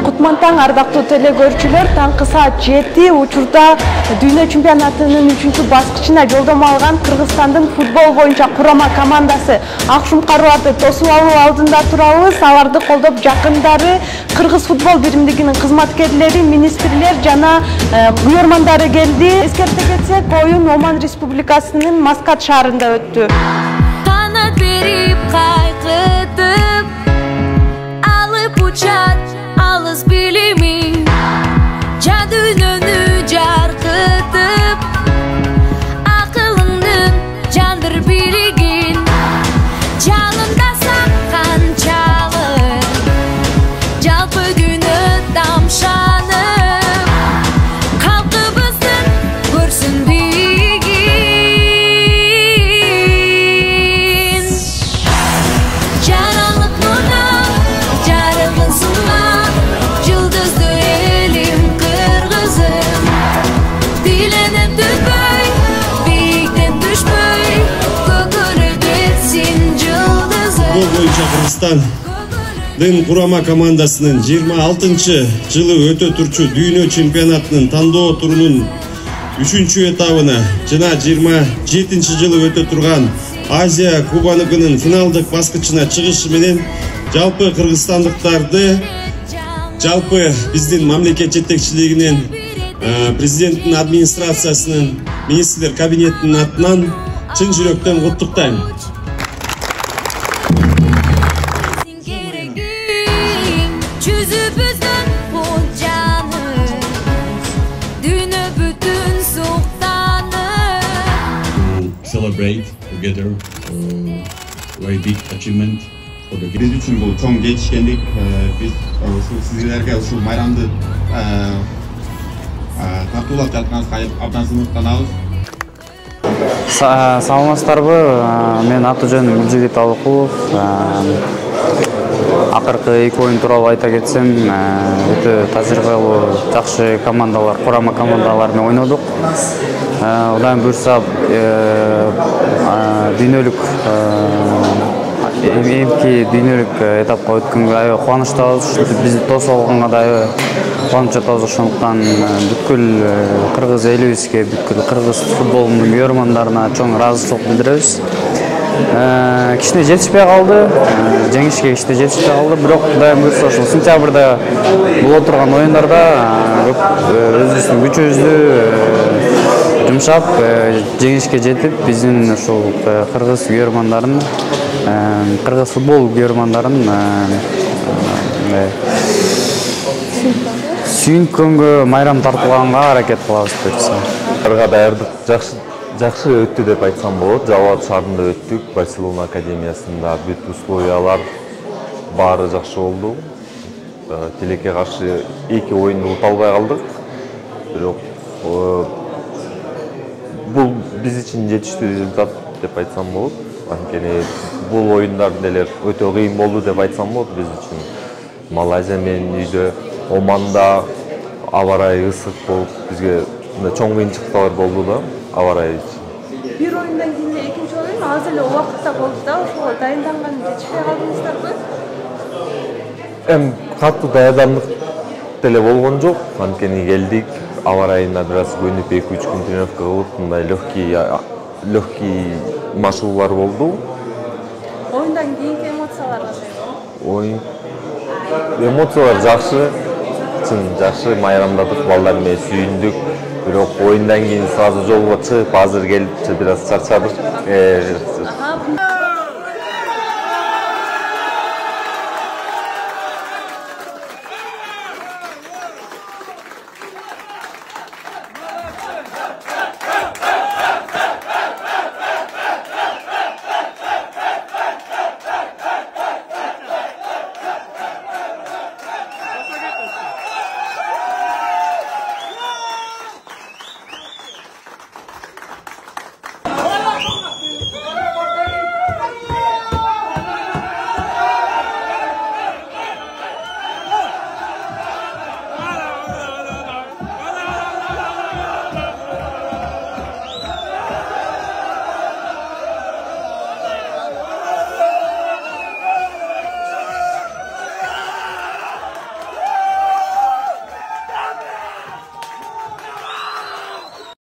Кутман таң, ардактуу теле көрүүчүлөр, таңкы саат 7 учурда дүйнө чемпионатынын 3-чү баскычына жолдомо алган Кыргызстандын футбол боюнча курама командасы ак шумкарларды тосуп алуу алдында турабыз. Аларды колдоп жакындары Кыргыз футбол биримдигинин кызматкерлери, министрлер жана уйурмандары келди. Эскерте кетсек, оюн Оман Республикасынын Маскат шаарында өттү. Канат берип кайкытып, алып учат алыс билими, жадүнөнү жаркытып, акылыңдын жандыр билигин, жалында саккан чалы, жалпы дүйнө тамшанып, калкыбыздын көрсүн биигин. Жаралып муна, жарыгын суна, жұлдызды элим кыргызым, диленеп түтпөй, бийиктен түшпөй, көкөлүп кетсин жылдызым. Футбол боюнча Кыргызстандын курама командасынын 26-жылы өтө турчу дүйнө чемпионатынын тандоо турунун 3-чү этабына жана 27-жылы өтө турган Азия кубогунун финалдык баскычына чыгышы менен жалпы кыргызстандыктарды, жалпы биздин мамлекет жетекчилигинин, президенттин администрациясынын, министрлер кабинетинин атынан чын жүрөктөн куттуктайм. Жүзүбүздүн кучаны, дүйнө бүтүн суктаны. Celebrate together very big achievement for the Биз үчүн бул чоң жетишкендик. Биз ушул сиздерге ушул майрамды тартуулап жатканыбызга абдан сыймыктанабыз. Саламатсыздарбы? Мен аты жөнүм Миржигит Алыкулов. Акыркы 2 оюн тууралуу айта кетсем, өтө тажрыйбалуу, жакшы командалар, курама командалар менен ойнодук. Удан буюрса дүйнөлүк эмки дүйнөлүк этапка өткөнгө аябай кубанычтабыз. Бизди тосуп алганга да аябай кубаныч жатабыз. Ошондуктан бүткүл кыргыз элибизге, бүткүл кыргыз футболунун уйурмандарына чоң ыраазычылык билдиребиз. Кичине жетишпей калды, жеңишке кичине жетишпей калды, бирок Кудайым буйрса ошол сентябрда боло турган оюндарда өзүбүздүн күчүбүздү жумшап, жеңишке жетип, биздин ушул кыргыз уйурмандарын, кыргыз футбол уйурмандарын сүйүнткөнгө, майрам тартылганга аракет кылабыз буюрса. Даярдык жакшы өттү деп айтсам болот. Жалал шаарында өттүк, Барселона академиясында бүт условиялар баары жакшы болду. Тилекке каршы 2 оюнду ута албай калдык. Бирок бул биз үчүн жетиштүү результат деп айтсам болот. Анткени бул оюндар деле өтө кыйын болду деп айтсам болот биз үчүн. Малайзия менен үйдө, Оманда аба ырайы ысык болуп, бизге чоң кыйынчылыктар болду да. Bir oyundan kийин экинчи oyun аз эле убакытта болду да, ошого дайынданган жетишпей калдыңыздарбы? Катуу даярдандык деле болгон жок. Анткени келдик, аба ырайына бир аз көнүп 2-3 күн тренировка кылып, мындай легкий машыгуулар болду. Oyundan kийинки эмоциялар кандай болду? Эмоциялар жакшы, чын жакшы, майрамдадык, балдар менен сүйүндүк. Бирок оюндан кийин сразу жолго чыгып, азыр келип бир аз чарчадык.